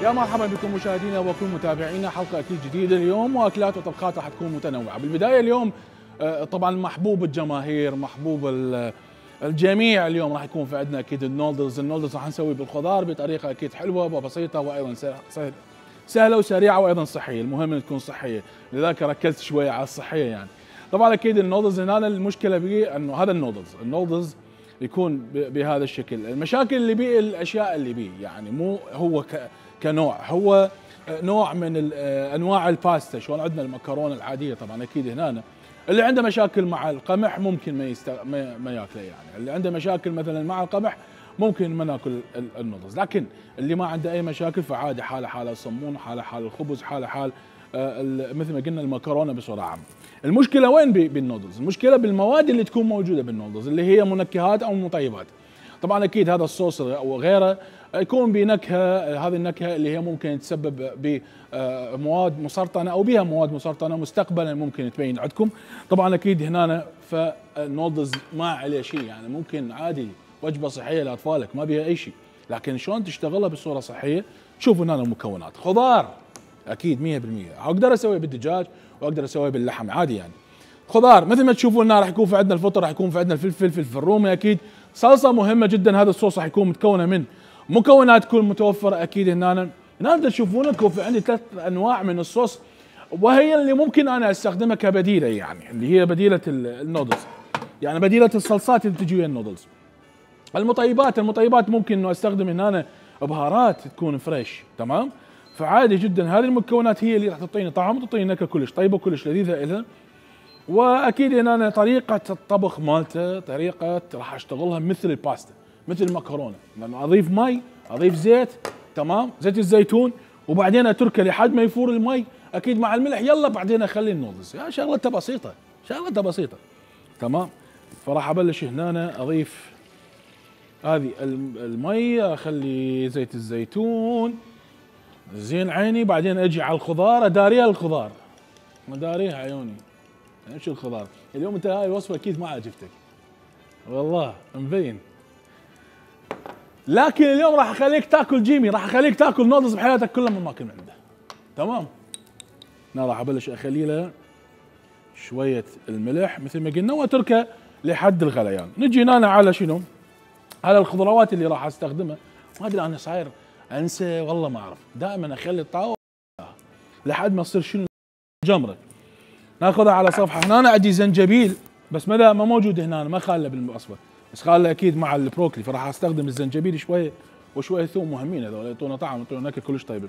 يا مرحبا بكم مشاهدينا وكل متابعينا، حلقه اكيد جديده اليوم، واكلات وطبخات راح تكون متنوعه. بالبدايه اليوم طبعا محبوب الجماهير، محبوب الجميع، اليوم راح يكون في عندنا اكيد النودلز راح نسوي بالخضار بطريقه اكيد حلوه وبسيطه وايضا سهله وسريعه وايضا صحيه، المهم ان تكون صحيه، لذلك ركزت شويه على الصحيه يعني. طبعا اكيد النودلز هنا المشكله به انه هذا النودلز يكون بهذا الشكل، المشاكل اللي بيه الاشياء اللي بيه، يعني مو هو كنوع، هو نوع من انواع الباستا، شلون عندنا المكرونه العاديه. طبعا اكيد هنا اللي عنده مشاكل مع القمح ممكن ما ياكله، يعني اللي عنده مشاكل مثلا مع القمح ممكن ما ناكل النودلز، لكن اللي ما عنده اي مشاكل فعادي، حاله حاله الصمون، حاله حال الخبز، حاله حال مثل ما قلنا المكرونه بصوره عامه. المشكله وين بالنودلز؟ المشكله بالمواد اللي تكون موجوده بالنودلز، اللي هي منكهات او مطيبات. طبعا اكيد هذا الصوص وغيره يكون بنكهه، هذه النكهه اللي هي ممكن تسبب بمواد مسرطنه او بها مواد مسرطنه مستقبلا ممكن تبين عندكم. طبعا اكيد هنا فالنودلز ما عليه شيء، يعني ممكن عادي وجبه صحيه لاطفالك ما بها اي شيء، لكن شلون تشتغلها بصوره صحيه؟ شوفوا هنا المكونات، خضار اكيد 100%، اقدر اسويه بالدجاج واقدر اسويه باللحم عادي يعني. خضار مثل ما تشوفون هنا راح يكون في عندنا الفطر، راح يكون في عندنا الفلفل الرومي اكيد، صلصه مهمه جدا. هذا الصوص راح يكون متكونه من مكونات تكون متوفره اكيد هنا تشوفون لكم في عندي 3 انواع من الصوص، وهي اللي ممكن انا استخدمها كبديله، يعني اللي هي بديله النودلز، يعني بديله الصلصات اللي تجي ويا النودلز. المطيبات ممكن انه استخدم هنا بهارات تكون فريش، تمام؟ فعادي جدا هذه المكونات هي اللي راح تعطيني طعم وتعطيني نكهه كلش طيبه وكلش لذيذه الها. واكيد هنا طريقه الطبخ مالته طريقه راح اشتغلها مثل الباستا، مثل المكرونه، لانه اضيف مي، اضيف زيت، تمام، زيت الزيتون، وبعدين اتركه لحد ما يفور المي اكيد مع الملح، يلا بعدين اخلي النودلز. يا شغلته بسيطه، تمام. فراح ابلش هنا اضيف هذه المي، اخلي زيت الزيتون زين عيني، بعدين اجي على الخضار اداريها، الخضار مداريها عيوني. ايش الخضار اليوم؟ انت هاي الوصفه اكيد ما عجبتك والله مبين، لكن اليوم راح اخليك تاكل جيمي، راح اخليك تاكل نودلز بحياتك كلها من ماكل من عنده، تمام. انا راح ابلش اخلي له شويه الملح مثل ما قلنا واتركه لحد الغليان. نجي هنا على شنو؟ على الخضروات اللي راح استخدمها. ما ادري انا صاير انسى والله ما اعرف، دائما اخلي الطاوله لحد ما تصير شنو جمره. ناخذها على صفحه. هنا عندي زنجبيل بس ما موجود هنا، ما خاله بالوصفه، بس خاله اكيد مع البروكلي، فراح استخدم الزنجبيل شويه وشويه ثوم، مهمين هذول يعطونا طعم يعطونا نكهه كلش طيبه.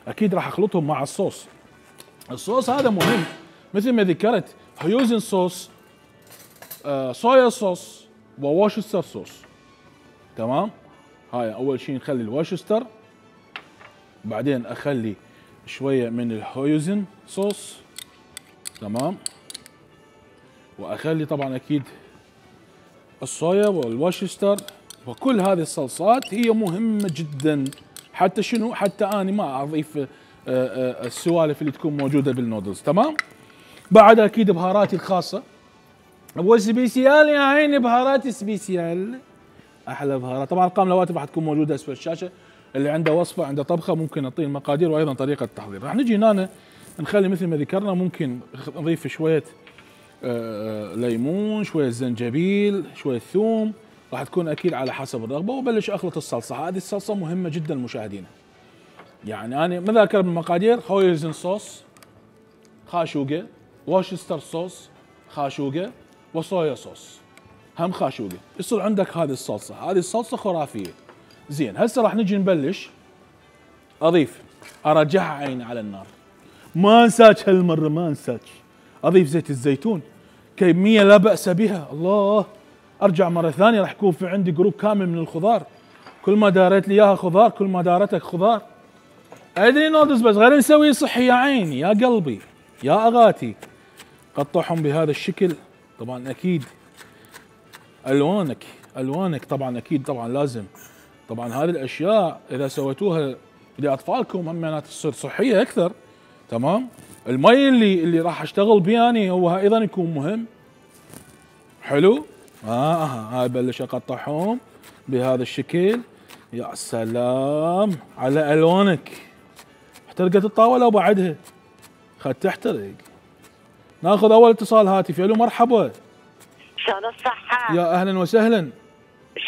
اكيد راح اخلطهم مع الصوص هذا مهم مثل ما ذكرت، هيوزن صوص، صويا صوص، ووشستر صوص، تمام. هاي اول شيء نخلي الوشستر، بعدين اخلي شويه من الهيوزن صوص، تمام، واخلي طبعا اكيد الصويا والوشستر، وكل هذه الصلصات هي مهمه جدا، حتى شنو؟ حتى اني ما اضيف السوالف اللي تكون موجوده بالنودلز، تمام. بعد اكيد بهاراتي الخاصه، ابو سبيسيال يا عيني، بهارات سبيسيال، احلى بهارات. طبعا ارقام الهواتف راح تكون موجوده اسفل الشاشه، اللي عنده وصفه عنده طبخه ممكن نعطيه المقادير وايضا طريقه التحضير. راح نجي هنا نخلي مثل ما ذكرنا، ممكن نضيف شويه ليمون، شويه زنجبيل، شويه ثوم، راح تكون اكيد على حسب الرغبه، وبلش اخلط الصلصه. هذه الصلصه مهمه جدا مشاهدينا، يعني انا ما ذاكر بالمقادير، هويزن صوص خاشوقه، واشستر صوص خاشوقه، وصويا صوص هم خاشوقه، يصير عندك هذه الصلصه خرافيه. زين هسه راح نجي نبلش اضيف، ارجعها عيني على النار، ما انساك هالمره، ما انساك، اضيف زيت الزيتون كميه لا باس بها. الله، ارجع مره ثانيه راح يكون في عندي جروب كامل من الخضار، كل ما داريت لي اياها خضار، كل ما دارتك خضار. ادري نودلز بس غير نسوي صحي يا عيني يا قلبي يا اغاتي. قطعهم بهذا الشكل. طبعا اكيد الوانك طبعا اكيد طبعا لازم، طبعا هذه الاشياء اذا سويتوها لاطفالكم هم تصير صحيه اكثر، تمام. المي اللي راح اشتغل به يعني هو ايضا يكون مهم. حلو. هاي بلش اقطعهم بهذا الشكل. يا سلام على الوانك احترقت الطاوله وبعدها خد تحترق. ناخذ اول اتصال هاتفي. الو مرحبا. شلون الصحة؟ يا اهلا وسهلا.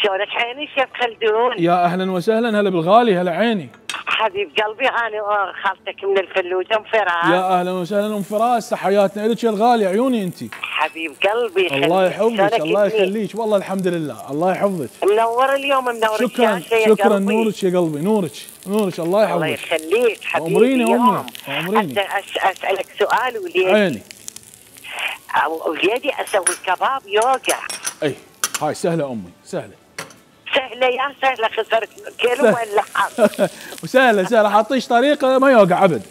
شلونك عيني شيف خلدون؟ يا اهلا وسهلا. هلا بالغالي. هلا عيني. حبيب قلبي انا خالتك من الفلوجة ام فراس. يا اهلا وسهلا ام فراس. تحياتنا لك يا الغالي. عيوني انت. حبيب قلبي. الله يحفظك. الله يخليك. والله الحمد لله. الله يحفظك. منور اليوم. منور. شكرا شكرا. نورك يا قلبي. نورك نورك. الله يحفظك. الله يخليك حبيبي. امريني امي. امريني. اسالك سؤال وليدي. عيني. وليدي اسوي الكباب يوقع. اي هاي سهله امي. سهله. سهله يا سهله. خسرت كيلو ولا حظ. وسهله حاطيش طريقه ما يوقع ابد.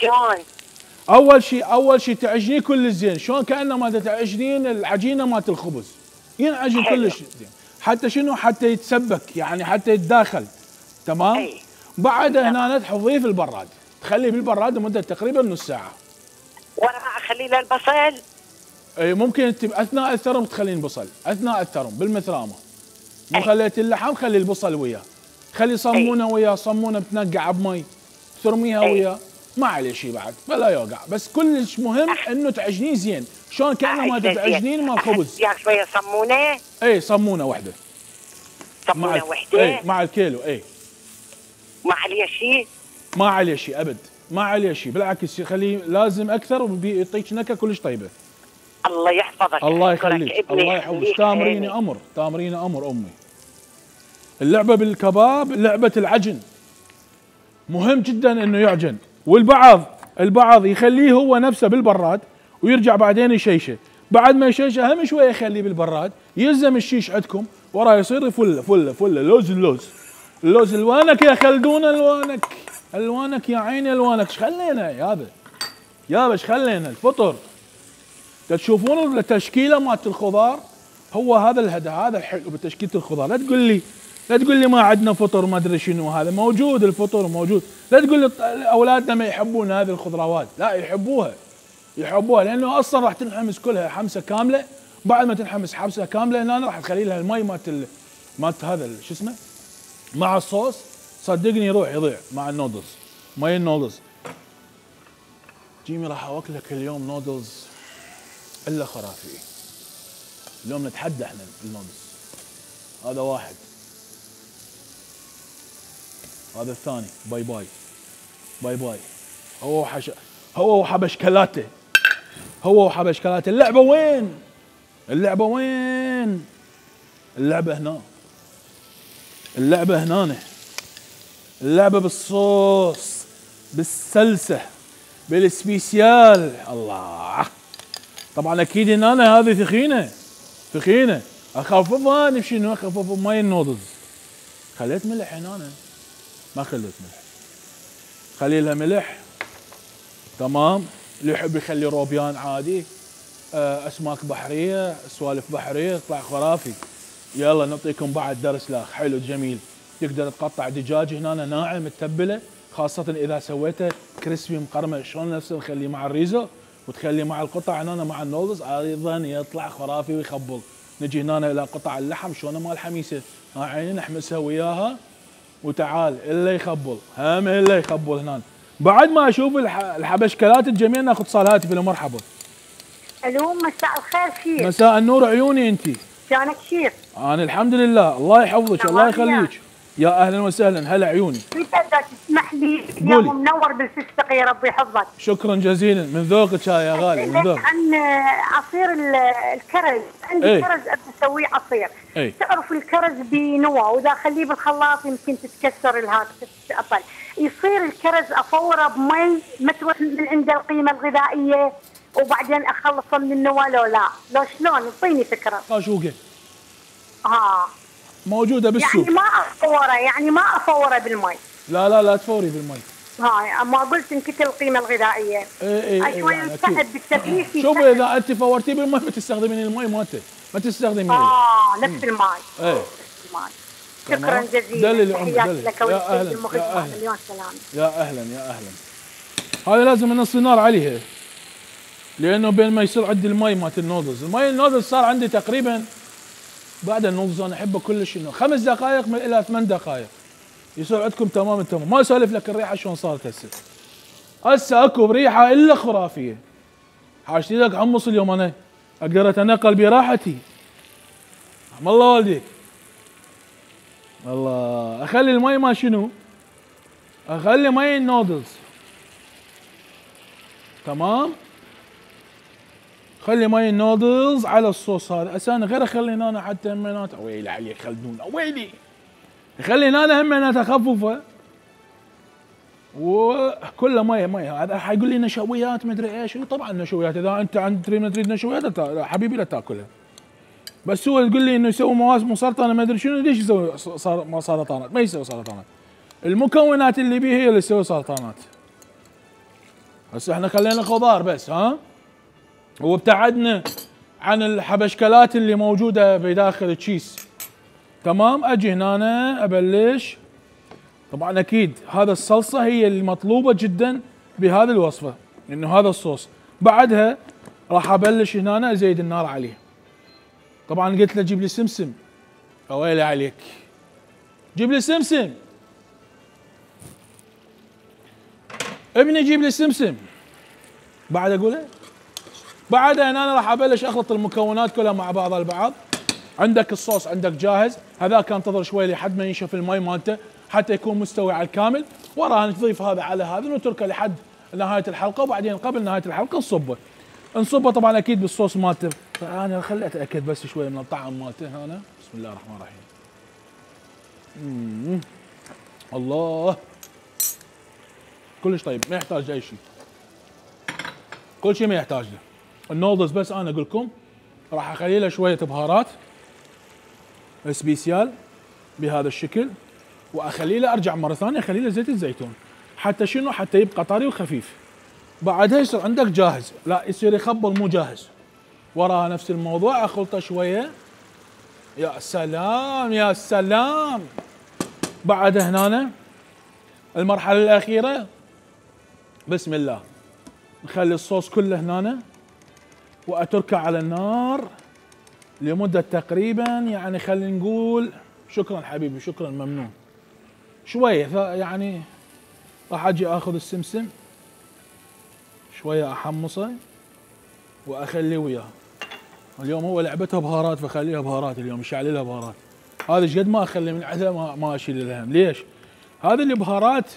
شلون؟ اول شيء تعجنيه كل زين. شلون كانما تعجنين العجينه مالت الخبز. ينعجن كلش زين. حتى شنو؟ حتى يتسبك يعني حتى يتداخل. تمام. أي. بعدها هنا تحطيه في البراد. تخليه بالبراد لمده تقريبا نص ساعه. وانا اخلي له البصل؟ اي ممكن انت اثناء الثرم تخلين بصل. اثناء الثرم بالمثرامه. مو خليت اللحم خلي البصل وياه. خلي صمونه وياه. صمونه بتنقع بمي. ترميها وياه. ما عليه شيء بعد بلا يوقع. بس كلش مهم انه تعجنيه زين. شلون كانما تعجنين مال خبز. يا شويه صمونه. اي صمونه واحده. صمونه واحده. اي مع الكيلو. اي ما عليه شيء. ما عليه شيء ابد. ما عليه شيء بالعكس خليه لازم اكثر وبيعطيك نكهه كلش طيبه. الله يحفظك. الله يخليك. الله يحفظك. تامريني امر. تامريني امر امي. اللعبه بالكباب لعبه العجن. مهم جدا انه يعجن. والبعض يخليه هو نفسه بالبراد ويرجع بعدين يشيشه. بعد ما يشيشه هم شويه يخليه بالبراد. يلزم الشيش عندكم وراه يصير فل اللوز الوانك يا خلدون. الوانك يا عيني. الوانك ايش خلينا يابا ايش خلينا الفطر. تشوفون التشكيله مالت الخضار. هو هذا الهدف. هذا الحلو بتشكيله الخضار. لا تقول لي ما عندنا فطر ما ادري شنو. هذا موجود. الفطر موجود. لا تقول لي اولادنا ما يحبون هذه الخضروات. لا يحبوها لانه اصلا راح تنحمس كلها حمسه كامله. بعد ما تنحمس حمسه كامله هنا راح تخلي لها المي مالت هذا شو اسمه مع الصوص. صدقني يروح يضيع مع النودلز. مي النودلز. جيمي راح اوكلك اليوم نودلز الا خرافي. اليوم نتحدى احنا النودلز. هذا واحد. هذا الثاني. باي باي. هو وحبشكلاته. اللعبه وين؟ اللعبه هنا. اللعبه بالصوص بالسلسه بالسبيسيال. الله. طبعا اكيد ان انا هذه ثخينه. اخففها. انا بشنو اخفف بماي النودلز. خليت ملح هنا. ما خليت ملح. خلي لها ملح. تمام. اللي يحب يخلي روبيان عادي. اسماك بحريه سوالف بحريه يطلع خرافي. يلا نعطيكم بعد درس لاخ حلو جميل. تقدر تقطع دجاج هنا ناعم متبله خاصه اذا سويته كريسبي مقرمش. شلون نفسه نخليه مع الريزو وتخليه مع القطع هنا مع النودلز ايضا يطلع خرافي ويخبل. نجي هنا الى قطع اللحم شلون مال الحميسه. عيني نحمسها وياها وتعال الا يخبل. هم الا يخبل هنا. بعد ما اشوف الحبشكلات الجميع ناخذ اتصال هاتفي. مرحبا. الو مساء الخير شيف. مساء النور عيوني انت. شلونك شيف؟ انا الحمد لله. الله يحفظك. الله يخليك. يا اهلا وسهلا. هلا عيوني. اذا تسمح لي اليوم منور بالفستق يا ربي يحفظك. شكرا جزيلا. من ذوقك يا غالي. من ذوقك. عن عصير الكرز. عندي كرز ابي اسويه عصير. تعرف الكرز بنوى واذا اخليه بالخلاط يمكن تتكسر الهات تتقطع. يصير الكرز افوره بمي ما تروح من عنده القيمه الغذائيه وبعدين اخلصه من النوى لو شلون اعطيني فكره. شوقه. موجوده بالسوق. يعني ما افوره بالمي. لا تفوري بالمي. ما قلت انكتل القيمه الغذائيه. اي شوي يساعد بالتفريش. شوفي اذا انت فورتيه بالمي ما تستخدمين المي مالته. ما تستخدمين نفس المي. المي. شكرا جزيلا. تحياتي لك وللسيد المخرج. مليون سلامه. يا اهلا. هذا لازم نص نار عليها لانه بين ما يصير عندي المي مالت النودلز. النودلز صار عندي تقريبا بعد النودلز انا احبه كلش انه 5 دقائق الى 8 دقائق. يصير عندكم تمام التمام. ما اسولف لك الريحه شلون صارت هسه اكو بريحه الا خرافيه. حاجتي لك حمص اليوم انا اقدر اتنقل براحتي. رحم الله والديك. الله اخلي المي ما شنو؟ اخلي مي النودلز. تمام؟ خلي مي النودلز على الصوص هذا. هسه انا غير اخلي هنا حتى همينات ويلي عليك خلدون ويلي. يخلي هنا همينات خفوفه وكله مي هذا حيقول لي نشويات مدري ايش. طبعا نشويات اذا انت تريد نشويات حبيبي لا تاكلها. بس هو تقول لي انه يسوي مواسم مسرطنه ما ادري شنو. ليش يسوي سرطانات؟ ما يسوي سرطانات. المكونات اللي بيه هي اللي تسوي سرطانات. هسه احنا خلينا خضار بس ها؟ وابتعدنا عن الحبشكلات اللي موجوده بداخل التشيس. تمام؟ اجي هنا ابلش. طبعا اكيد هذا الصلصه هي المطلوبه جدا بهذه الوصفه، انه هذا الصوص. بعدها راح ابلش هنا ازيد النار عليه. طبعا قلت له جيب لي سمسم. اويلي عليك. جيب لي سمسم. ابني جيب لي سمسم. بعد اقولها. بعدها هنا راح ابلش اخلط المكونات كلها مع بعضها البعض. عندك الصوص عندك جاهز، هذاك انتظر شوي لحد ما ينشف المي مالته حتى يكون مستوي على الكامل. وراها نضيف هذا على هذا ونتركه لحد نهايه الحلقه، وبعدين قبل نهايه الحلقه نصبه طبعا اكيد بالصوص مالته. انا خليت اتاكد بس شوي من الطعم مالته هنا. بسم الله الرحمن الرحيم. الله كلش طيب، ما يحتاج اي شيء. كل شيء ما يحتاج له. النودلز بس انا اقول لكم راح اخلي له شويه بهارات سبيسيال بهذا الشكل، واخلي له ارجع مره ثانيه اخلي له زيت الزيتون حتى شنو؟ حتى يبقى طري وخفيف. بعدها يصير عندك جاهز، لا يصير يخبل مو جاهز. وراها نفس الموضوع اخلطه شويه. يا سلام يا سلام. بعدها هنا المرحله الاخيره بسم الله نخلي الصوص كله هنا واتركه على النار لمده تقريبا يعني خلينا نقول شكرا حبيبي شكرا ممنون شويه. يعني راح اجي اخذ السمسم شويه احمصه واخليه وياه. اليوم هو لعبتها بهارات فخليها بهارات اليوم مشعل لها بهارات. هذا ايش قد ما اخلي من عندها ما اشيل الهم. ليش؟ هذه البهارات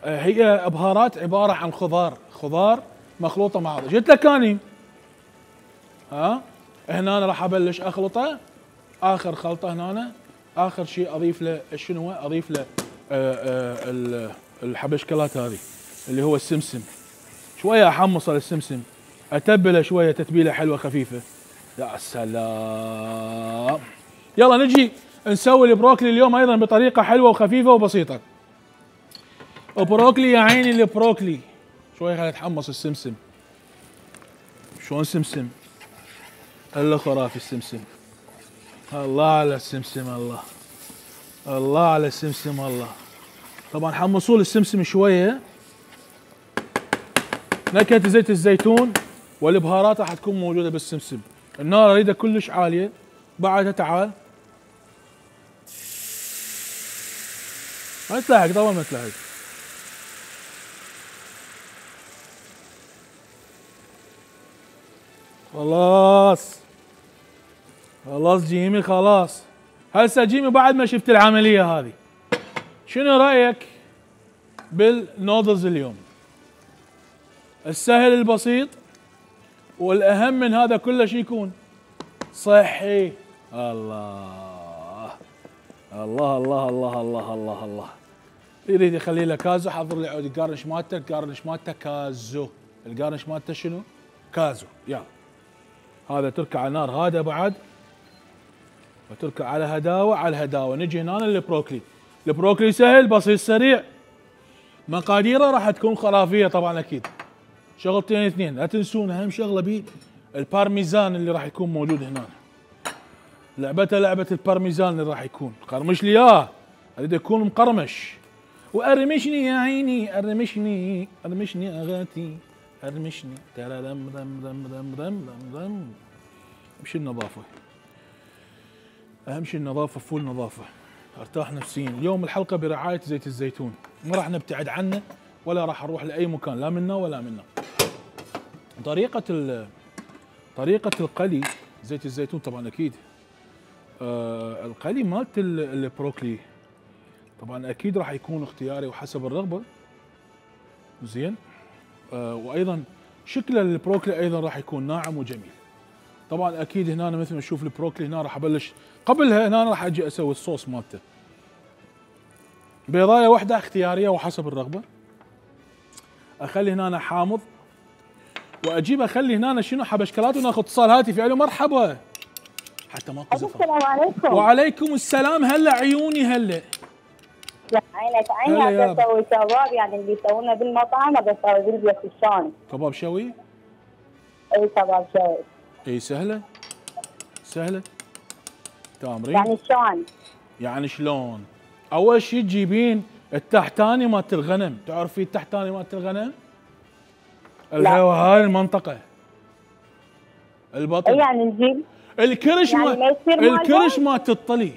هي بهارات عباره عن خضار مخلوطه مع بعض. قلت لك اني هنا انا راح ابلش اخلطه. اخر خلطه هنا اخر شيء اضيف له شنو؟ اضيف له الحبشكلات هذه اللي هو السمسم. شويه احمص السمسم اتبله شويه تتبيله حلوه خفيفه. يا سلام. يلا نجي نسوي البروكلي اليوم ايضا بطريقه حلوه وخفيفه وبسيطه. بروكلي يا عيني البروكلي. شويه خلينا نتحمص السمسم. شلون سمسم؟ الا خرافي السمسم. الله على السمسم. الله على السمسم. الله. طبعا حمصوا لي السمسم شويه. نكهه زيت الزيتون والبهارات راح تكون موجوده بالسمسم. النار اريدها كلش عاليه. بعدها تعال ما تلحق طبعا ما تلحق. خلاص جيمي خلاص. هسه جيمي بعد ما شفت العمليه هذه شنو رايك بالنودلز اليوم؟ السهل البسيط والاهم من هذا كله شو يكون؟ صحي. الله الله الله الله الله الله الله. يريد يخلي له كازو حضر لي عود الجارنش مالته. الجارنش مالته كازو. الجارنش مالته شنو؟ كازو. يلا هذا تركه على نار هذا بعد وتركه على هداوه على الهداوه. نجي هنا للبروكلي. البروكلي سهل بسيط سريع. مقاديره راح تكون خرافيه طبعا اكيد. شغلتين اثنين لا تنسون اهم شغله بيه البارميزان اللي راح يكون موجود هنا. لعبته لعبه البارميزان اللي راح يكون. قرمش لي اياه اريد يكون مقرمش. وارمشني يا عيني ارمشني اغاتي ارمشني ترى دم دم دم دم دم دم دم. اهم شيء النظافه. اهم شيء النظافه فول نظافه. ارتاح نفسيا. اليوم الحلقه برعايه زيت الزيتون، ما راح نبتعد عنه ولا راح نروح لاي مكان، لا منا ولا منا. طريقه القلي زيت الزيتون طبعا اكيد القلي مالت البروكلي طبعا اكيد راح يكون اختياري وحسب الرغبه. زين. وايضا شكل البروكلي ايضا راح يكون ناعم وجميل. طبعا اكيد هنا مثل ما نشوف البروكلي هنا راح ابلش قبلها، هنا راح اجي اسوي الصوص مالته. بيضايه واحده اختياريه وحسب الرغبه. اخلي هنا حامض واجيب اخلي هنا شنو حبشكلات وناخذ اتصال هاتفي. الو مرحبا. حتى ماكو زفر. السلام عليكم. وعليكم السلام. هلا عيوني هلا. لا عيني ابي اسوي كباب، يعني اللي يسوونه بالمطعم ابي اسوي بالبيت شلون؟ كباب شوي؟ اي كباب شوي. اي سهله تامرين. يعني شلون؟ يعني شلون؟ اول شيء تجيبين التحتاني مالت الغنم، تعرفي التحتاني مالت الغنم؟ هاي المنطقه البطن. يعني نجيب الكرش يعني الكرش مالت الطلي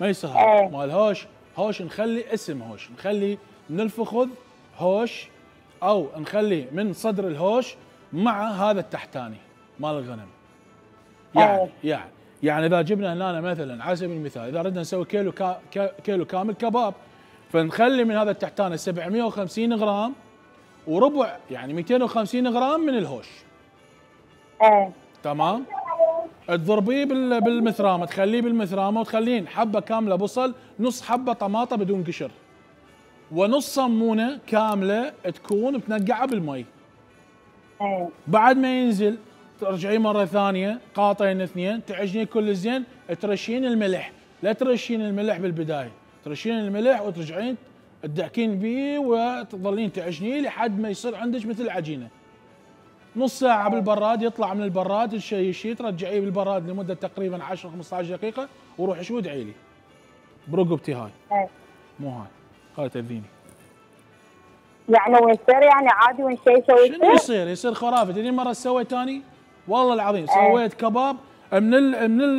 ما يصير مال هوش نخلي اسم هوش، نخلي من الفخذ هوش او نخلي من صدر الهوش مع هذا التحتاني مال الغنم. يعني اذا جبنا هنا مثلا على سبيل المثال اذا ردنا نسوي كيلو كامل كباب، فنخلي من هذا التحتاني 750 غرام وربع، يعني 250 غرام من الهوش. تمام. تضربيه بالمثرامه، تخليه بالمثرامه وتخلين حبه كامله بصل، نص حبه طماطه بدون قشر، ونص صمونه كامله تكون بتنقعها بالمي. بعد ما ينزل ترجعيه مره ثانيه قاطين اثنين، تعجنيه كل زين، ترشين الملح، لا ترشين الملح بالبدايه، ترشين الملح وترجعين تدعكين بيه وتظلين تعجنيه لحد ما يصير عندك مثل العجينه. نص ساعة بالبراد، يطلع من البراد تشيشيه ترجعيه بالبراد لمدة تقريبا 10 15 دقيقة، وروح شو ادعي لي برقبتي هاي. مو هاي تأذيني. يعني ويصير يعني عادي وين شيء يسوي؟ شنو يصير خرافة. تدري مرة سويت ثاني والله العظيم سويت كباب من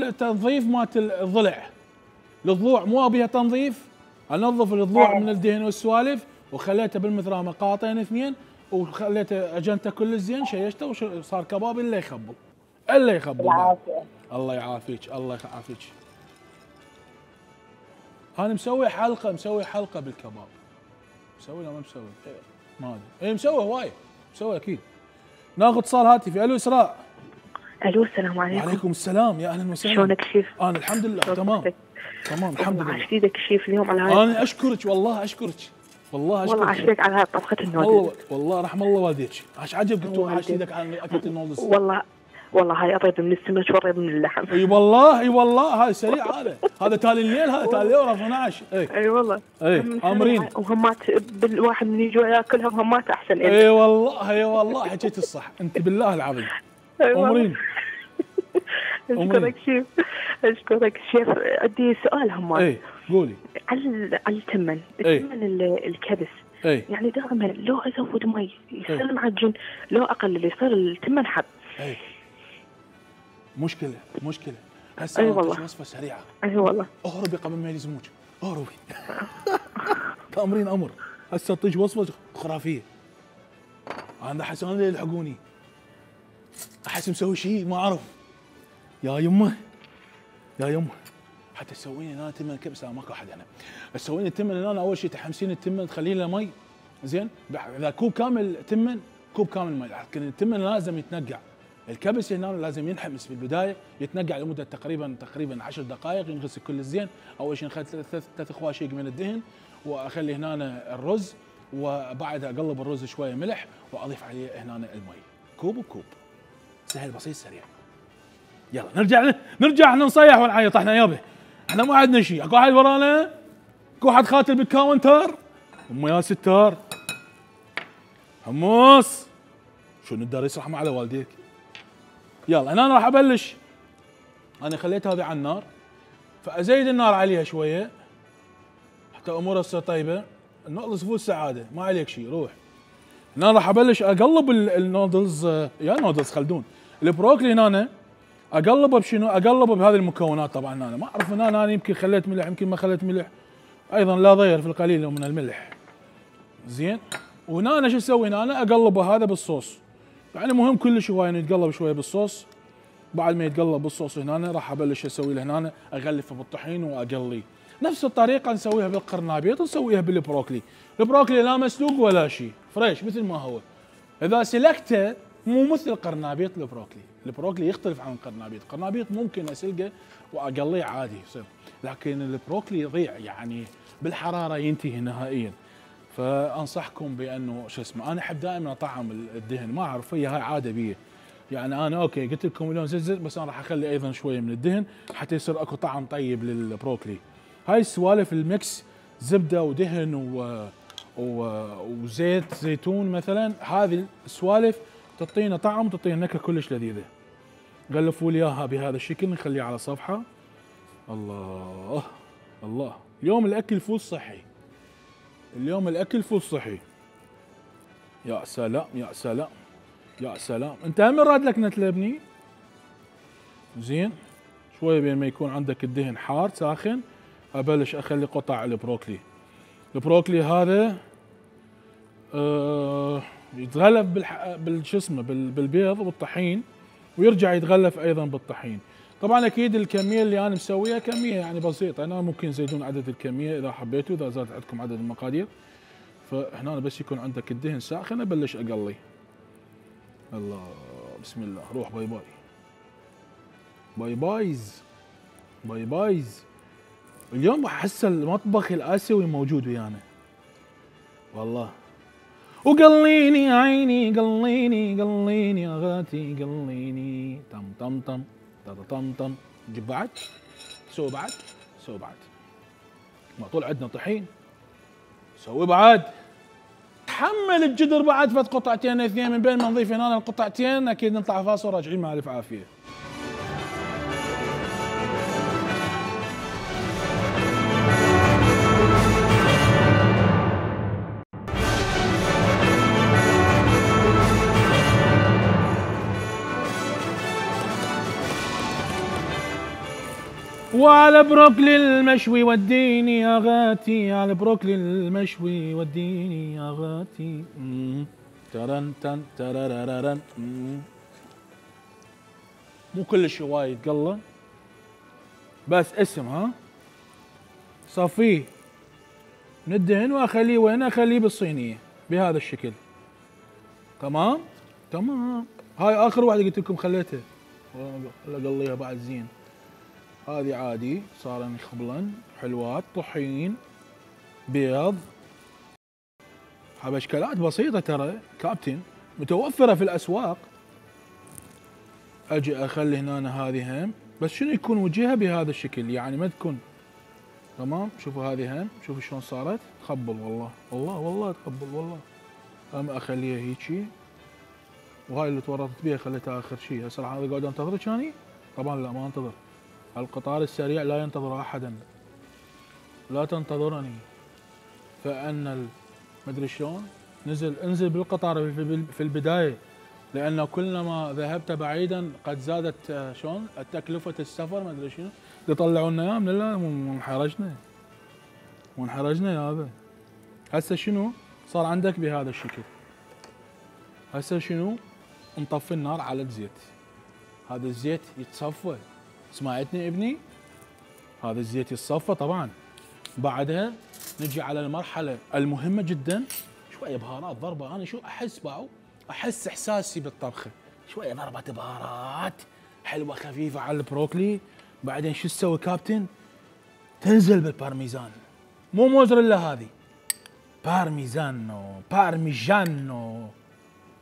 التنظيف مالت الضلع. الضلوع مو ابيها تنظيف، انظف الضلوع من الدهن والسوالف، وخليته بالمثرامة قاطين اثنين، وخليته اجنته كل زين، شيشته وصار كباب الا يخبل الله يعافيك الله يعافيك. انا مسوي حلقه بالكباب. مسوي ولا ما مسوي؟ ما ادري. مسوي هواي، مسوي اكيد. ناخذ اتصال هاتفي. الو اسراء. الو السلام عليكم. وعليكم السلام، يا اهلا وسهلا. شلونك شيف؟ انا الحمد لله تمام الحمد لله. عاش ايدك شيف اليوم على هاي. انا اشكرك والله والله عاشتك على هاي طبخة النودلز. والله رحم الله والديك. عاش عجبك عاش ايدك على اكلة النودلز. والله هاي اطيب من السمك واطيب من اللحم. اي والله هاي سريع. هذا تالي الليل، هذا تالي اليوم 12. اي والله امرين. وهمات بالواحد من يجوا ياكلها وهمات احسن. اي والله حكيت الصح انت بالله العظيم. امرين. اشكرك شيف. عندي سؤال همات. قولي. على التمن الكبس. يعني دائما لو ازود مي يصير معجن، لو اقلل يصير التمن حب. مشكله هسه وصفه سريعه. والله اهربي قبل ما يلزموك، اهربي. تامرين امر. هسه طيش وصفه خرافيه. انا احس انا اللي يلحقوني، احس مسوي شيء ما اعرف. يا يمه حتى تسويني هنا تمن كبسه ماكو احد هنا. تسويني التمن هنا اول شيء تحمسين التمن تخلين له مي زين. اذا كوب كامل تمن كوب كامل مي، لكن التمن لازم يتنقع. الكبس هنا لازم ينحمس بالبدايه، يتنقع لمده تقريبا 10 دقائق، ينغسل كل زين. اول شيء نخلي 3 خواشيق من الدهن، واخلي هنا الرز، وبعدها اقلب الرز شويه ملح واضيف عليه هنا المي كوب بكوب. سهل بسيط سريع. يلا نرجع احنا نصيح ونعيط احنا يابا. احنا ما عندنا شيء. اكو واحد ورانا، اكو واحد قاتل بالكاونتر. يا ستار حمص شو ندار يسرح على والديك. يلا هنا راح ابلش. انا خليت هذه على النار، فازيد النار عليها شويه حتى امورها تصير طيبه. النودلز فول سعاده، ما عليك شيء. روح هنا راح ابلش اقلب النودلز. يا نودلز خلدون البروكلي هنا اقلبه بشنو؟ اقلبه بهذه المكونات. طبعا انا ما اعرف، انا يمكن خليت ملح يمكن ما خليت ملح، ايضا لا ضير في القليل من الملح. زين. وهنا انا شو اسوي؟ هنا أنا اقلبه هذا بالصوص، يعني مهم كلش هو انه يتقلب شويه بالصوص. بعد ما يتقلب بالصوص هنا أنا راح ابلش اسوي له هنا اغلفه بالطحين واقليه. نفس الطريقه نسويها بالقرنابيط ونسويها بالبروكلي. البروكلي لا مسلوق ولا شيء، فريش مثل ما هو. اذا سلقته مو مثل القرنابيط البروكلي، البروكلي يختلف عن القرنابيط. القرنابيط ممكن اسلقه واقليه عادي يصير، لكن البروكلي يضيع يعني بالحراره ينتهي نهائيا. فانصحكم بانه شو اسمه، انا احب دائما اطعم الدهن، ما اعرف هي هاي عاده بي. يعني انا اوكي قلت لكم اليوم زلزل، بس انا راح اخلي ايضا شويه من الدهن حتى يصير اكو طعم طيب للبروكلي. هاي السوالف الميكس زبده ودهن وزيت زيتون مثلا، هذه السوالف تعطينا طعم وتعطينا نكهه كلش لذيذه. غلفوا لي اياها بهذا الشكل، نخليه على صفحه. الله الله، اليوم الاكل فول صحي، اليوم الاكل فول صحي. يا سلام يا سلام يا سلام. انت هم راد لك نتلبني زين شويه بين ما يكون عندك الدهن حار ساخن. ابلش اخلي قطع البروكلي. البروكلي هذا يتغلف بالشو اسمه بالبيض والطحين، ويرجع يتغلف ايضا بالطحين. طبعا اكيد الكميه اللي انا مسويها كميه يعني بسيطه، انا ممكن تزيدون عدد الكميه اذا حبيتوا، اذا زاد عندكم عدد المقادير. فهنا بس يكون عندك الدهن ساخن ابلش اقلي. الله بسم الله. روح باي باي باي بايز باي بايز. اليوم احس المطبخ الاسيوي موجود ويانا والله. وقليني يا عيني قليني قليني يا غاتي قليني طم طم طم طم طم طم. جيب بعد، سوي بعد، سوي بعد. ما طول عندنا طحين، سوي بعد. حمل الجدر بعد فت قطعتين اثنين، من بين ما نضيف هنا القطعتين اكيد نطلع فاصل راجعين مع الف عافيه. وعلى بروكلي المشوي وديني يا غاتي، على بروكلي المشوي وديني يا غاتي. ترن تن تررررن. مو كلش وايد قله، بس اسم ها. صفيه من الدهن واخليه وين؟ اخليه بالصينيه بهذا الشكل. تمام تمام. هاي اخر واحده قلت لكم خليتها، اقليها بعد زين. هذه عادي صار خبلا حلوات طحين بيض، حبشكلات بسيطه ترى كابتن، متوفره في الاسواق. اجي اخلي هنا هذه هم، بس شنو يكون وجهها بهذا الشكل، يعني ما تكون تمام. شوفوا هذه هم، شوفوا شلون صارت تقبل والله والله والله تقبل والله. هم اخليها هيجي، وهاي اللي تورطت بيها خليتها اخر شيء. هسه راح اقعد انتظرك يعني؟ طبعا لا ما انتظر، القطار السريع لا ينتظر احدا، لا تنتظرني. فان مدري شلون انزل بالقطار في البدايه، لانه كلما ذهبت بعيدا قد زادت شلون تكلفه السفر ما ادري شنو. يطلعونا اياه من الله وانحرجنا يا هذا. هسه شنو صار عندك بهذا الشكل؟ هسه شنو؟ نطفي النار على الزيت. هذا الزيت يتصفى، سمعتني ابني؟ هذا الزيت يتصفى طبعا. بعدها نجي على المرحله المهمه جدا، شويه بهارات ضربه. انا شو احس باعو؟ احس احساسي بالطبخه، شويه ضربه بهارات حلوه خفيفه على البروكلي. بعدين شو تسوي كابتن؟ تنزل بالبارميزان، مو موزريلا هذه، بارميجانو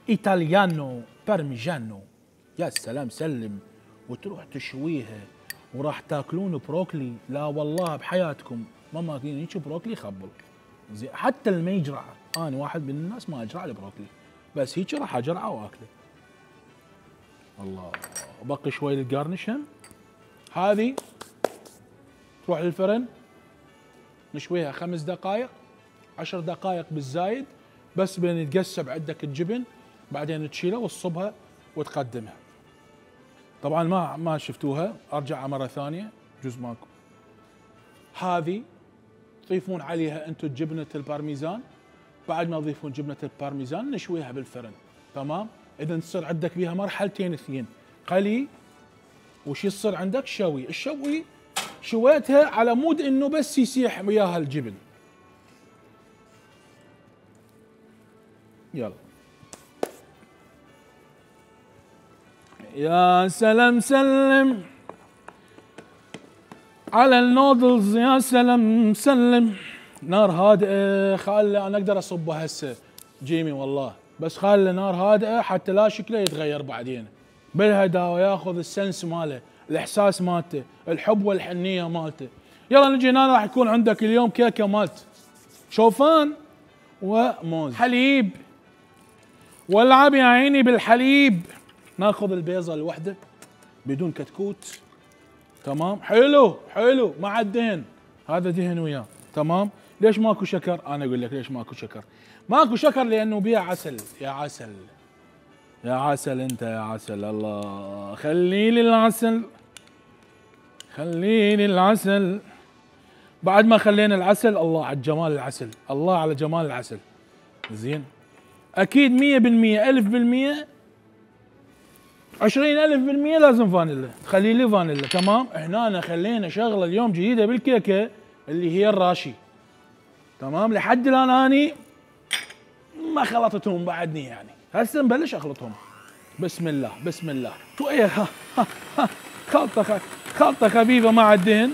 ايطاليانو بارميجانو. يا سلام سلم. وتروح تشويها وراح تاكلون بروكلي. لا والله بحياتكم ما ماكلين هيك بروكلي خبل زين. حتى اللي ما يجرع، انا واحد من الناس ما اجرع البروكلي، بس هيك راح اجرعه واكله. الله. وبقي شوي للجارنش هم. هذه تروح للفرن نشويها 5 دقائق 10 دقائق بالزايد، بس بين يتقسم عندك الجبن. بعدين تشيلها وتصبها وتقدمها. طبعا ما شفتوها، ارجع مره ثانيه جزء ماكو. هذه تضيفون عليها انتم جبنه البارميزان، بعد ما تضيفون جبنه البارميزان نشويها بالفرن، تمام؟ اذا تصير عندك بيها مرحلتين اثنين، قلي وش يصير عندك شوي. الشوي شويتها على مود انه بس يسيح وياها الجبن. يلا يا سلام سلم على النودلز، يا سلام سلم. نار هادئه، خلي انا اقدر اصبها هسه جيمي والله، بس خلي نار هادئه حتى لا شكله يتغير بعدين. بالهداوه ياخذ السنس ماله، الاحساس مالته، الحب والحنيه مالته. يلا نجي هنا، راح يكون عندك اليوم كيكه مالت شوفان وموز، حليب، والعب يا عيني بالحليب. ناخذ البيضه الوحده بدون كتكوت، تمام؟ حلو حلو مع الدهن، هذا دهن وياه، تمام؟ ليش ماكو شكر؟ انا اقول لك ليش ماكو شكر. ماكو شكر لانه بيها عسل. يا عسل يا عسل انت يا عسل، الله خلي لي العسل، خلي لي العسل. بعد ما خلينا العسل، الله على جمال العسل، الله على جمال العسل. زين، اكيد 100% 1000% 20,000% لازم فانيلا، تخلي لي فانيلا، تمام؟ هنا خلينا شغله اليوم جديده بالكيكه اللي هي الراشي، تمام؟ لحد الان اني ما خلطتهم بعدني، يعني هسه نبلش اخلطهم. بسم الله بسم الله. شويه خلطه خفيفه مع الدهن،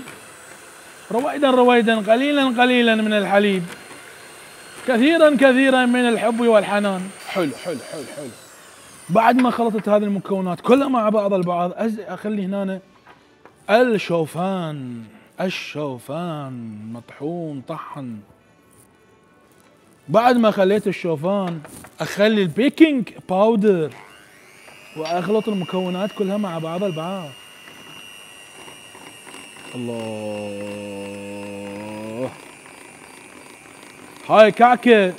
رويدا رويدا، قليلا قليلا من الحليب، كثيرا كثيرا من الحب والحنان. حلو حلو حلو حلو. بعد ما خلطت هذه المكونات كلها مع بعض البعض، اخلي هنا الشوفان. الشوفان مطحون طحن. بعد ما خليت الشوفان اخلي البيكنج باودر واخلط المكونات كلها مع بعض البعض. الله، هاي كعكه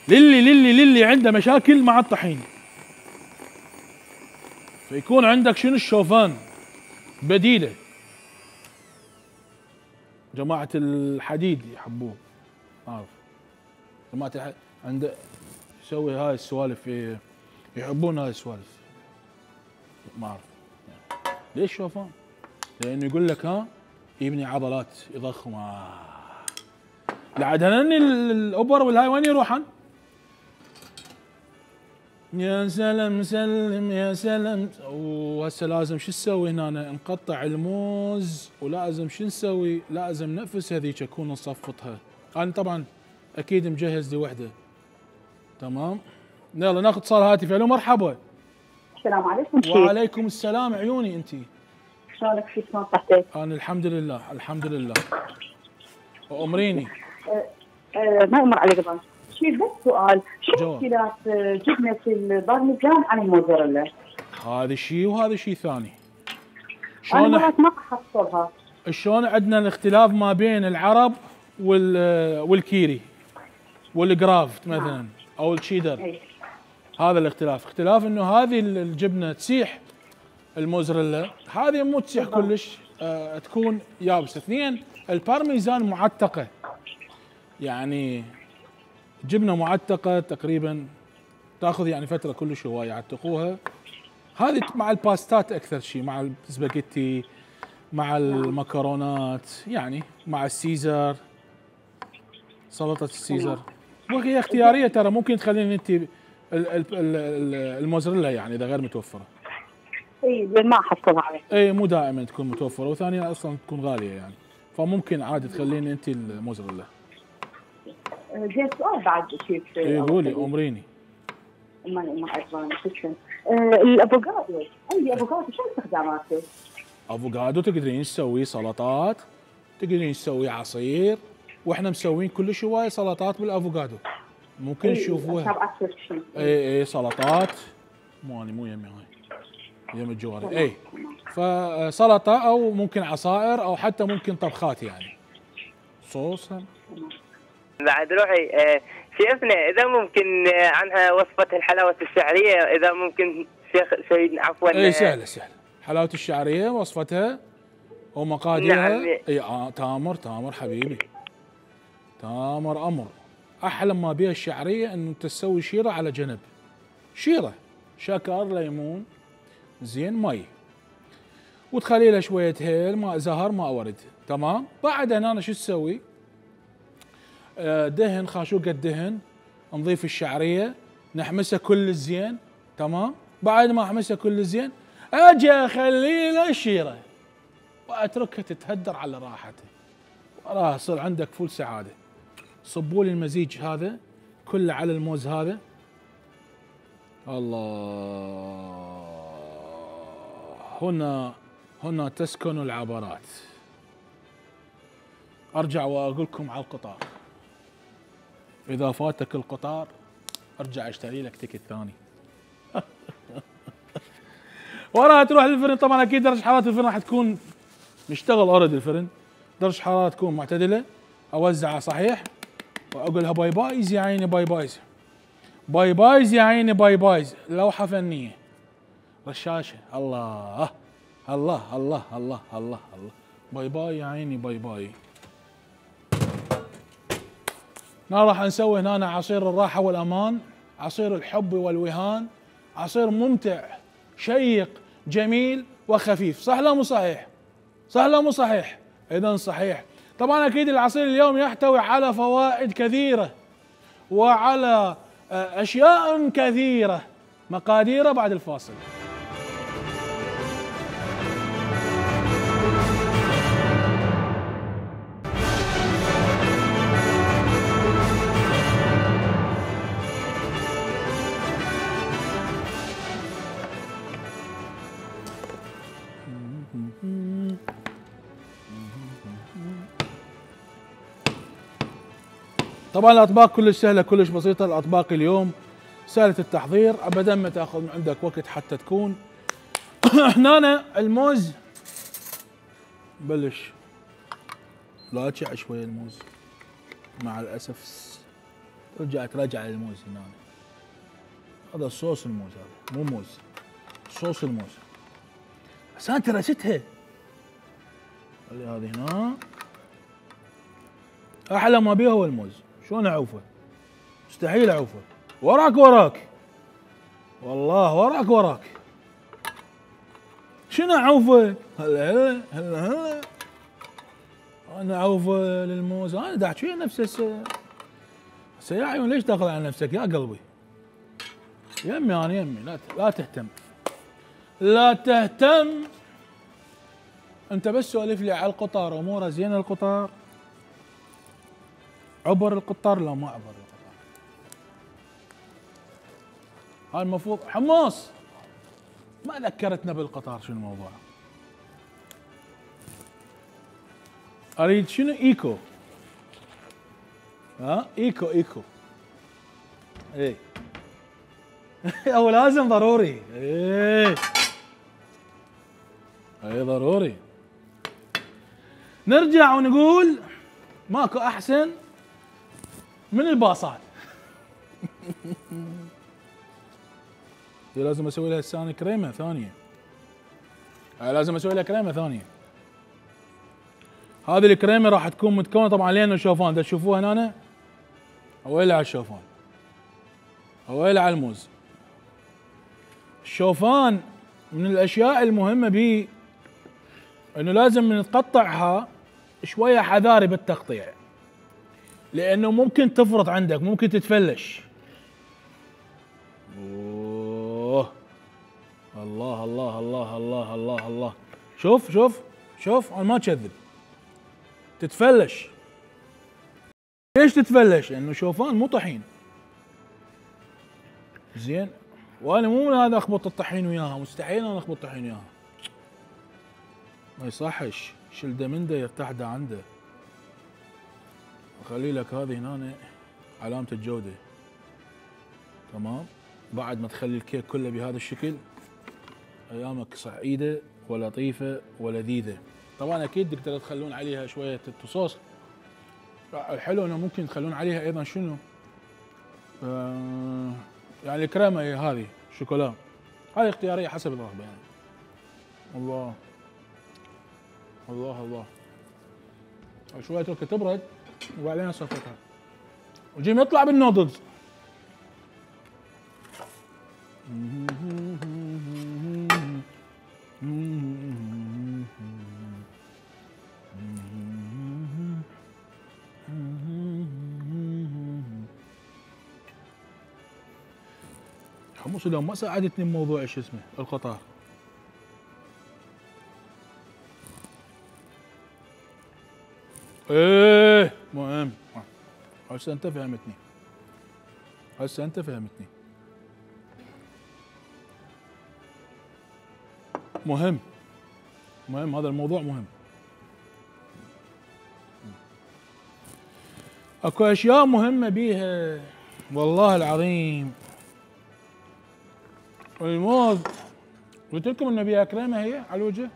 للي عنده مشاكل مع الطحين، فيكون عندك شنو الشوفان بديله. جماعة الحديد يحبوه، عارف جماعة الحديد عنده يسوي هاي السوالف، يحبون هاي السوالف، ما اعرف ليش شوفان؟ لانه يقول لك ها يبني عضلات يضخم. لعد هنني الاوبر والهاي وين يروحن؟ يا سلام سلم يا سلام. وهسه لازم شو نسوي هنا؟ نقطع الموز، ولازم شو نسوي؟ لازم نفس هذيك اكون نصفطها. انا طبعا اكيد مجهز لي وحده، تمام؟ يلا ناخذ اتصال هاتفي. الو مرحبا. السلام عليكم. وعليكم السلام عيوني. انتي شلونك؟ شو شلون صحتك؟ انا الحمد لله الحمد لله. امريني. ما يمر عليك طبعا. شيء بس سؤال، شو اختلاف جبنه البارميزان عن الموزاريلا؟ هذا شيء وهذا شيء ثاني. انا مرات ما احصلها. شلون عندنا الاختلاف ما بين العرب والكيري والجرافت مثلا او الشيدر. هذا الاختلاف، اختلاف انه هذه الجبنه تسيح، الموزاريلا هذه مو تسيح كلش، تكون يابسه. اثنين، البارميزان معتقه، يعني جبنه معتقه تقريبا تاخذ يعني فتره كلش هوايه يعتقوها. هذه مع الباستات اكثر شيء، مع السباجيتي، مع المكرونات، يعني مع السيزر، سلطه السيزر. وهي اختياريه ترى، ممكن تخلين انت الموزاريلا يعني اذا غير متوفره. اي ما احصلها عليه. اي مو دائما تكون متوفره، وثانيا اصلا تكون غاليه يعني، فممكن عادي تخلين انت الموزاريلا. زين سؤال بعد شيء. اي قولي امريني. ما عرفان تسلم. الافوكادو، عندي افوكادو، شو استخداماته؟ افوكادو تقدرين تسوي سلطات، تقدرين تسوي عصير، واحنا مسوين كلش هوايه سلطات بالافوكادو، ممكن تشوفوها. اي سلطات، مو يمي هاي يم الجواري. اي فسلطه او ممكن عصائر او حتى ممكن طبخات يعني صوص. بعد روحي شيفنا اذا ممكن عنها وصفه الحلاوه الشعريه، اذا ممكن شيخ سيدنا عفوا. اي سهله سهله. حلاوه الشعريه وصفتها ومقاديرها. نعم. اي تامر حبيبي، تامر امر. احلى ما بيها الشعريه انه انت تسوي شيره على جنب، شيره شكر ليمون زين مي، وتخلي لها شويه هيل ماء زهر ماء ورد. تمام. بعد هنا شو تسوي؟ دهن خاشوقه الدهن، نضيف الشعريه نحمسها كل زين. تمام. بعد ما احمسها كل زين اجي اخلي لها الشيره واتركها تتهدر على راحتها، وراها يصير عندك فول سعاده. صبوا لي المزيج هذا كله على الموز هذا. الله، هنا تسكن العبرات. ارجع واقول لكم على القطار، اذا فاتك القطار ارجع اشتري لك تيكت ثاني. وراها تروح للفرن. طبعا اكيد درجه حراره الفرن راح تكون مشتغل اوريدي الفرن، درجه حراره تكون معتدله. اوزعها صحيح واقول لها باي بايز يا عيني باي بايز، باي بايز يا عيني باي بايز. لوحه فنيه رشاشه. الله الله الله الله الله الله. باي باي يا عيني باي باي. راح نسوي هنا عصير الراحه والامان، عصير الحب والوهان، عصير ممتع شيق جميل وخفيف. صح لا مو صحيح؟ صح لا مو صحيح؟ اذا صحيح. طبعا اكيد العصير اليوم يحتوي على فوائد كثيره وعلى اشياء كثيره. مقاديره بعد الفاصل. طبعا الاطباق كلش سهله كلش بسيطه. الاطباق اليوم سهله التحضير، ابدا ما تاخذ من عندك وقت حتى تكون. هنا الموز بلش لاجع شويه الموز مع الاسف. رجع الموز هنا. هذا صوص الموز، هذا مو موز، صوص الموز. بس انت رستها. خلي هذه هنا. احلى ما بيها هو الموز. شلون اعوفه؟ مستحيل اعوفه. وراك والله وراك. شنو اعوفه؟ هلا انا اعوفه للموز. انا دا احكي نفس هسه يا عيون. ليش داخل على نفسك يا قلبي؟ يمي انا يمي. لا تهتم، لا تهتم. انت بس سولف لي على القطار. اموره زين القطار؟ عبر القطار؟ لا ما عبر القطار. هاي المفروض حماص. ما ذكرتنا بالقطار. شنو الموضوع؟ اريد شنو؟ ايكو. ايكو ايه. او لازم ضروري. ايه ضروري. نرجع ونقول ماكو احسن من الباصات. لازم اسوي لها الثاني كريمه ثانيه. لازم اسوي لها كريمه ثانيه. هذه الكريمه راح تكون متكونه طبعا لين الشوفان. تشوفوها هنا. اويلي على الشوفان، اويلي على الموز. الشوفان من الاشياء المهمه بيه انه لازم نقطعها شويه حذاري بالتقطيع، لانه ممكن تفرط عندك، ممكن تتفلش. اوه الله الله الله الله الله الله. شوف انا ما اكذب. تتفلش. ليش تتفلش؟ لانه شوفان مو طحين. زين. وانا مو من هذا اخبط الطحين وياها، مستحيل انا اخبط طحين وياها. ما يصحش. شلده من ده يرتاح ده عنده. اخلي لك هذه هنا علامة الجودة. تمام. بعد ما تخلي الكيك كله بهذا الشكل ايامك سعيدة ولطيفة ولذيذة. طبعا اكيد تقدروا تخلون عليها شوية الصوص. الحلو انه ممكن تخلون عليها ايضا شنو؟ يعني الكريمة هذه شوكولا هذه اختياريه حسب الرغبه يعني. الله الله الله. شويه اتركها تبرد وبعدين اصفقها وجيم يطلع بالنودلز. حمص اليوم ما ساعدتني بموضوع شو اسمه القطار. ايه مهم. هسه انت فهمتني. هسه انت فهمتني. مهم مهم هذا الموضوع مهم. اكو اشياء مهمة بيها والله العظيم. الموز قلت لكم انه بيها كريمة هي على الوجه.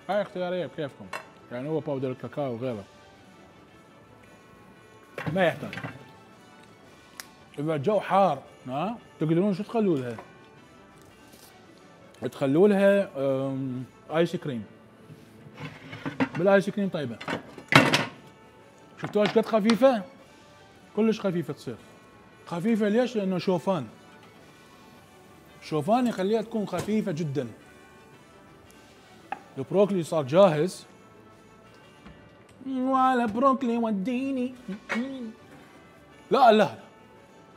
هاي اختيارية بكيفكم. يعني هو باودر الكاكاو وغيره. ما يحتاج. اذا الجو حار ها تقدرون شو تخلوا لها؟ تخلوا لها ايس كريم. بالايس كريم طيبه. شفتوها ايش قد خفيفه؟ كلش خفيفه تصير. خفيفه ليش؟ لانه شوفان. شوفان يخليها تكون خفيفه جدا. البروكلي صار جاهز. وعلى بروكلي وديني. لا لا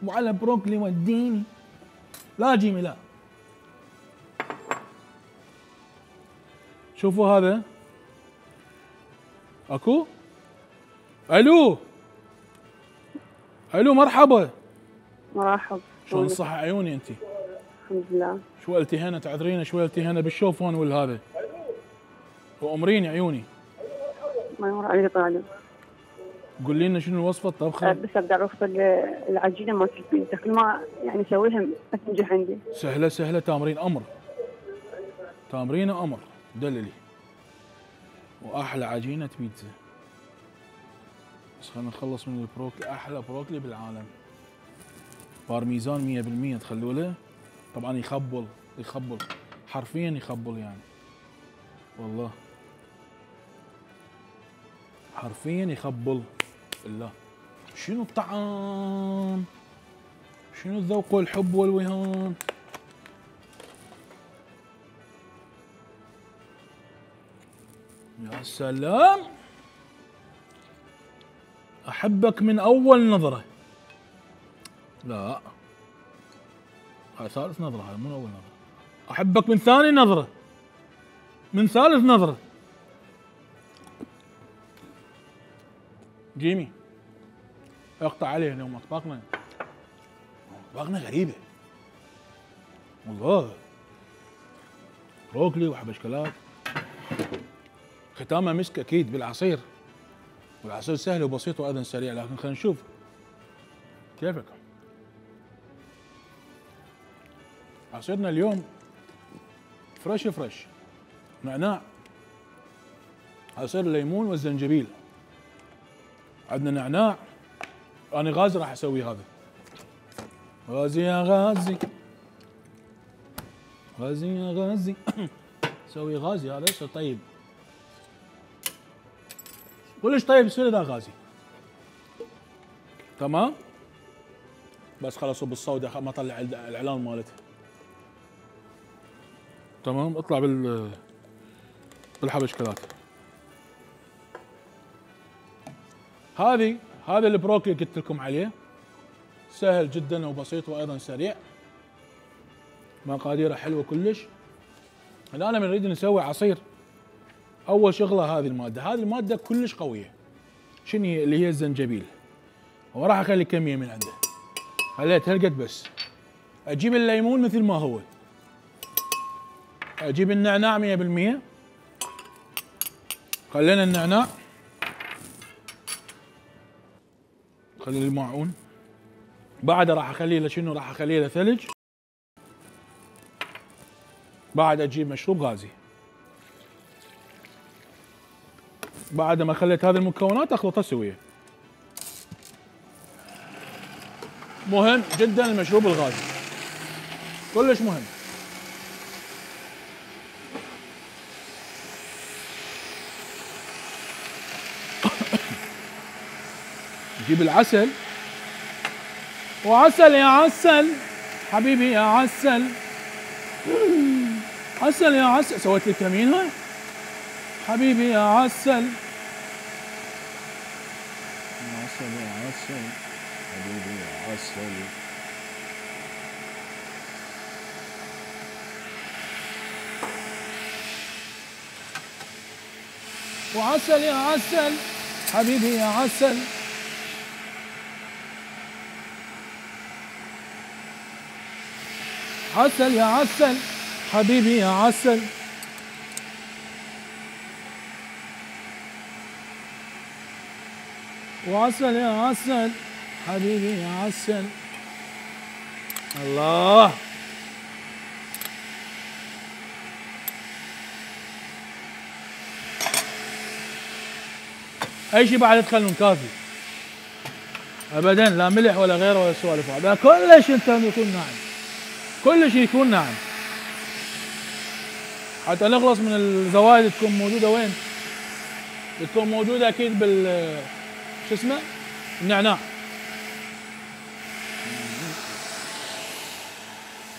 وعلى بروكلي وديني. لا جيمي لا. شوفوا هذا. اكو؟ الو الو مرحبا. مرحبا. شلون صح عيوني انت؟ الحمد لله. شو التهينا تعذرينا شوي التهينا بالشوفون والهذا. وامريني عيوني. ما يمر عليك طالب. قولي لنا شنو الوصفه الطبخه؟ بس ابدا اعرف العجينه مالت البيتزا كل ما يعني اسويها ما تنجح عندي. سهله سهله تامرين امر. تامرين امر دللي. واحلى عجينه بيتزا. بس خلينا نخلص من البروكلي. احلى بروكلي بالعالم. بارميزان 100% تخلوا له. طبعا يخبل يخبل حرفيا يخبل يعني. والله حرفيا يخبل. بالله شنو الطعام؟ شنو الذوق والحب والوهام؟ يا سلام. احبك من اول نظره. لا هاي ثالث نظره. هاي مو اول نظره. احبك من ثاني نظره. من ثالث نظره. جيمي اقطع عليه اليوم. اطباقنا غريبه والله. بروكلي وحبشكلات. ختامها مسك اكيد بالعصير. والعصير سهل وبسيط وايضا سريع. لكن خلينا نشوف كيفك. عصيرنا اليوم فريش فريش. نعناع. عصير الليمون والزنجبيل. عندنا نعناع. انا غازي راح اسوي هذا. غازي يا غازي. غازي يا غازي. سوي غازي هذا يصير طيب. كلش طيب يصير اذا غازي. تمام؟ بس خلاص صب الصودا ما طلع الاعلان مالتها. تمام؟ اطلع بالحبشكلات. هذا البروكلي قلت لكم عليه. سهل جدا وبسيط وايضا سريع. مقاديره حلوه كلش. الان بنريد نسوي عصير. اول شغله هذه الماده كلش قويه. شنو هي؟ اللي هي الزنجبيل. وراح اخلي كميه من عنده. خليت هالقد بس. اجيب الليمون مثل ما هو. اجيب النعناع 100%. خلينا النعناع. خلي الماعون. بعد راح اخليه له شنو؟ راح اخليه له ثلج. بعد اجيب مشروب غازي. بعد ما خليت هذه المكونات اخلطها سويه. مهم جدا المشروب الغازي. كلش مهم. نجيب العسل، وعسل يا عسل حبيبي يا عسل، عسل يا عسل. سويت لي كمين هاي حبيبي يا عسل، عسل يا عسل حبيبي يا عسل. وعسل يا عسل حبيبي يا عسل، عسل يا عسل حبيبي يا عسل. وعسل يا عسل حبيبي يا عسل. الله، اي شيء بعد تخلون كافي ابدا، لا ملح ولا غيره ولا سوالف هذا، كلش انت يكون ناعم، كل شيء يكون ناعم حتى نخلص من الزوايد. تكون موجوده وين؟ بتكون موجوده اكيد بال شو اسمه؟ النعناع.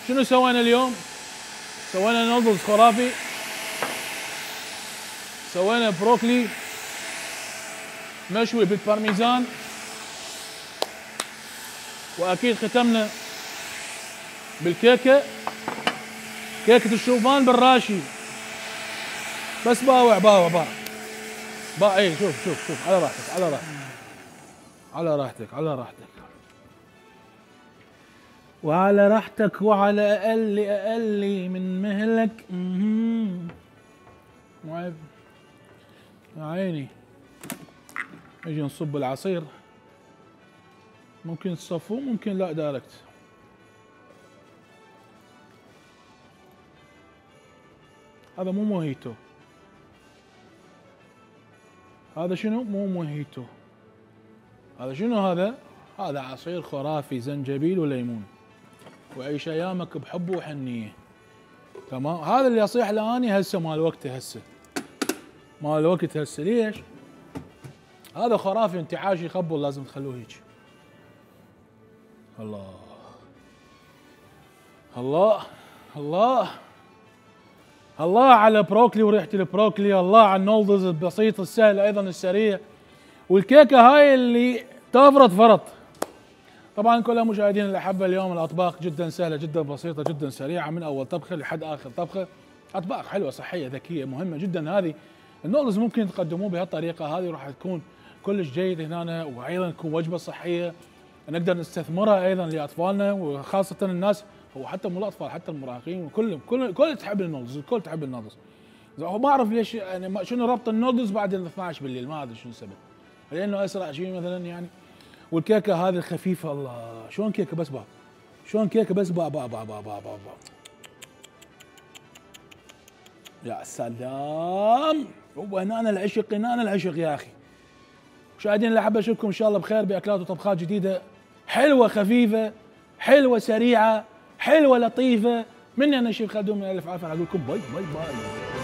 شنو سوينا اليوم؟ سوينا نودلز خرافي، سوينا بروكلي مشوي بالبارميزان، واكيد ختمنا بالكيكه، كيكه الشوفان بالراشي. بس باوع باوع باوع اي شوف على راحتك على راحتك على راحتك على راحتك وعلى راحتك وعلى اقل من مهلك. معيب يا عيني. نجي نصب العصير، ممكن تصفوه ممكن لا دايركت. هذا مو موهيتو، هذا شنو؟ مو موهيتو، هذا شنو؟ هذا عصير خرافي، زنجبيل وليمون، وعيش ايامك بحب وحنيه. تمام. هذا اللي يصيح لاني هسه مال وقته، هسه مال وقت هسه. ليش؟ هذا خرافي، انتعاش يخبل، لازم تخلوه هيك. الله الله الله الله على بروكلي وريحه البروكلي، الله على النودلز البسيط السهل ايضا السريع، والكيكه هاي اللي تفرط فرط. طبعا كل مشاهدينا الاحبه، اليوم الاطباق جدا سهله جدا بسيطه جدا سريعه، من اول طبخه لحد اخر طبخه. اطباق حلوه صحيه ذكيه مهمه جدا. هذه النودلز ممكن تقدموه بهالطريقه هذه، راح تكون كلش جيد هنا، وايضا تكون وجبه صحيه نقدر نستثمرها ايضا لاطفالنا، وخاصه الناس، وحتى مو الاطفال حتى المراهقين، وكلهم كل تحب النودلز، الكل تحب النودلز. ما اعرف ليش يعني شنو ربط النودلز بعد 12 بالليل، ما ادري شنو السبب، لانه اسرع شيء مثلا يعني. والكيكه هذه الخفيفه، الله شلون كيكه بس با، شلون كيكه بس با با با با با با, با. يا سلام، وهنا العشق، هنا العشق يا اخي. مشاهدينا اللي حابب اشوفكم ان شاء الله بخير باكلات وطبخات جديده حلوه خفيفه، حلوه سريعه، حلوه لطيفه. مني انا الشيف خالد من الف عافيه، اقول لكم باي باي باي.